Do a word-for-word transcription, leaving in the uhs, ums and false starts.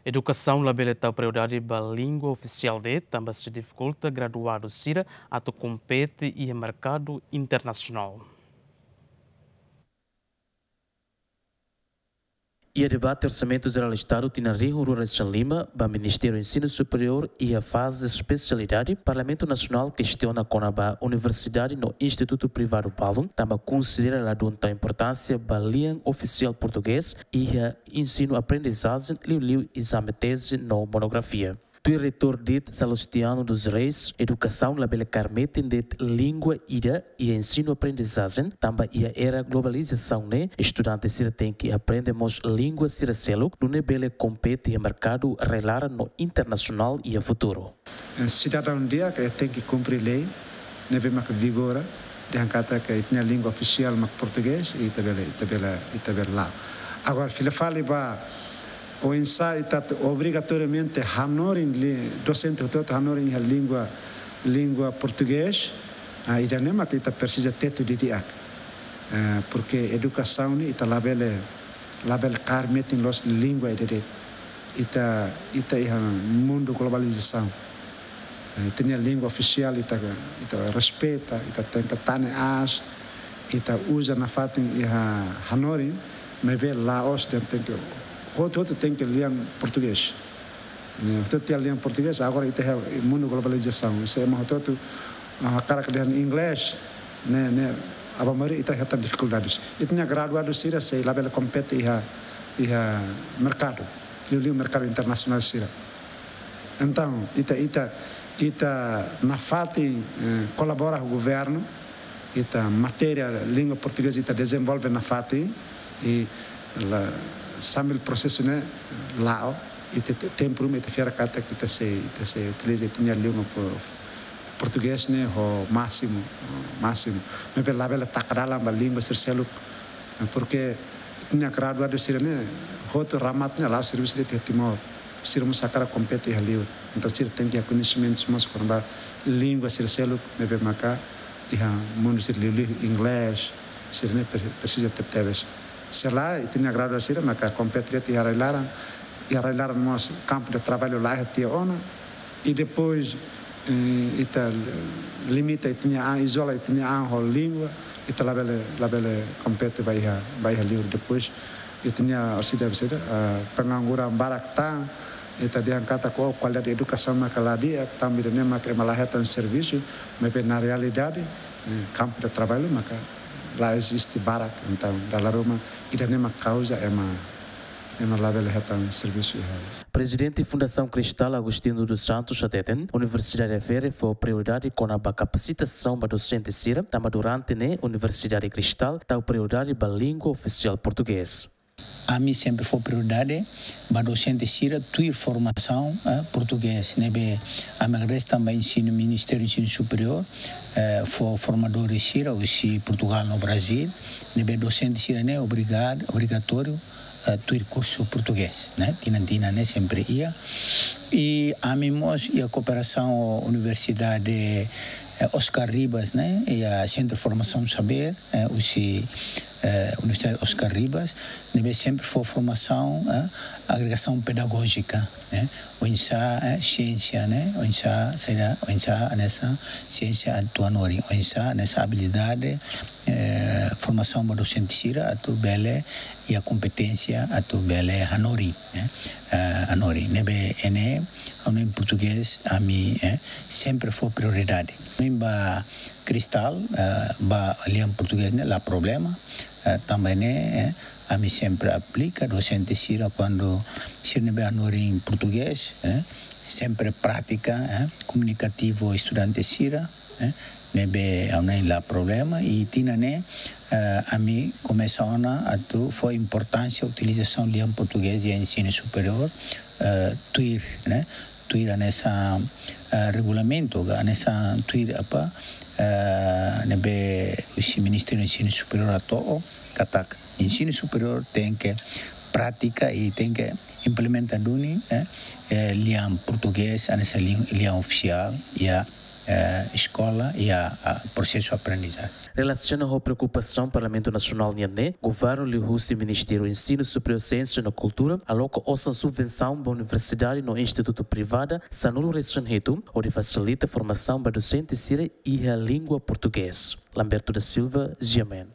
Edukasaun labele tau prioridade ba língua ofisiál de'it, tanba sei difikulta graduadu sira atu kompete iha merkadu internasionál. Iha debate Orsamentu Jerál Estadu tinan rihun rua resin lima ba Ministériu Ensinu Superiór iha faze espesialidade, Parlamentu Nasionál kestiona kona-ba universidade no institutu privadu balun, tanba konsidera ladún tau importánsia ba lian ofisiál portugés iha ensinu aprendizajen, liuliu ezame teze no monografia. Tuir reitór de'it Salustiano dos Reis, edukasaun labele kaer metin de'it língua ida iha ensinu aprendizajen, tanba iha era globalizasaun ne'e, estudante sira tenke aprende mós língua sira seluk, nune'e bele kompete iha merkadu rai-laran no internasionál iha futuru. Eh, sidadaun di'ak, eh, tenke kumpre lei ne'ebé maka vigora, dehan katak ita-nia língua ofisiál mak portugés, ita bele, ita bele, ita bele la'o. Agora, fila fali ba oinsá ita atu obrigatoriamente hanorin li-, dosente hotu-hotu hanorin iha língua, língua portugés, ah, ida-ne'e mak ita presiza tetu didi'ak. Eh, porke edukasaun ne'e ita labele, labele kaer metin loos língua ida de'it. Ita, ita iha mundu globalizasaun. Eh, ita-nia língua ofisiál ita, ita respeita, ita tenke tane aas, ita uza nafatin iha hanorin, maibé la'ós dehan tenke, hotu-hotu tenke lian portugés. Ne'e, hotu-hotu iha lian portugés, agora ita iha mundu globalizasaun. Se ema hotu-hotu, ah, hakarak dehan inglés, ne'e, ne'e, aban-bainrua ita hetan difikuldades. Ita-nia graduadu sira sei labele kompete iha, iha merkadu, liuliu merkadu internasionál sira. Entaun, ita, ita, ita nafatin, eh, kolabora ho governu, ita matéria língua portugés ita dezenvolve nafatin, i la, sambil prosesu ne'e la'o, ita te-, tempu ruma ita fiar katak ita sei, ita sei utiliza ita-nia língua po-, portugés ne'e ho másimu, másimu. Maibé labele taka dalan ba língua sira seluk, porke ita-nia graduadu sira-ne'e hotu remata ne'e la'o servisu de'it iha Timor. Sira mós hakarak kompete iha liur. Entaun sira tenke iha koñesimentus mós kona-ba língua sira seluk ne'ebé maka iha mundu sira liuliu inglés, sira-ne'e pre-, presiza tebetebes. Se lae, ita-nia graduadu sira maka kompete de'it iha rai-laran, iha rai-laran mós kampu de traballu laiha tiha ona, i depois, eh, ita limita ita-nia an, izola ita-nia an ho língua, ita labele, labele kompete ba iha, ba iha liur. Depois, ita-nia orsida, orsida, ah, pengangguran barak tan, ita dehan katak kualidade edukasaun maka la di'ak, tanba ida-ne'e maka ema la hetan servisu, maibé na realidade, eh, kampu de traballu maka la eziste barak, entaun dala ruma ida-ne'e mak kauza ema, ema labele hetan servisu iha. Prezidente Fundasaun Cristal, Agostinho dos Santos, hateten, Universidade Aveiro fó prioridade kona-ba kapasitasaun ba dosente sira, tanba durante ne'e Universidade Cristal tau prioridade ba língua ofisiál portugés. Ami sempre fó prioridade ba dosente sira tuir formasaun, eh, portugés. Ne'ebé ami agradese tanba ensinu, Ministériu Ensinu Superiór, eh, fó formadores sira husi Portugál no Brazíl. Ne'ebé dosente sira-ne'e obrigadu, obrigatóriu, eh, tuir kursu portugés, ne'e? Tinan-tinan ne'e sempre iha. I ami mós iha kooperasaun ho Universidade, eh, Oscar Ribas, ne'e? Iha Sentru Formasaun Saber, eh, husi, eh, Universidade Oscar Ribas, ne'ebé sempre fó formasaun, eh, agregasaun pedagójika, eh, oinsá, eh, siénsia, ne'e, oinsá, saida, oinsá, hanesan siénsia atu hanorin, oinsá, hanesan abilidade, eh, formasaun ba dosente sira atu bele, iha kompeténsia atu bele hanorin, eh, eh, hanorin. Ne'ebé ne'e, ami portugés, ami, eh, sempre fó prioridade. Ami ba Cristal, eh, ba lian portugés ne'e la problema, eh, tanba ne'e, eh, ami sempre aplika dosente sira kuandu sira ne'ebé hanorin portugés, eh, sempre pratika, eh, komunikativu estudante sira, eh, ne'ebé ami la problema, i tinan ne'e, eh, ami komesa ona atu fó importánsia utilizasaun lian portugés iha ensinu superiór, eh, tuir, ne'e, tuir hanesan, eh, regulamentu, ka hanesan tuir apa, eh, ne'ebé husi Ministériu Ensinu Superiór hato'o, katak ensinu superiór tenke pratika i tenke implementa duni, eh, eh, lian portugés, hanesan li-, lian ofisiál, iha, eskola iha prosesu aprendizajen. Relasiona ho preokupasaun Parlamentu Nasionál nian ne'e, Governu liuhusi Ministériu Ensinu Superiór, Siénsia no Kultura aloka osan subvensaun ba universidade no institutu privada sanulu-resin-hitu hodi fasilita formasaun ba dosente sira iha língua portugés. Lamberto da Silva, G M N.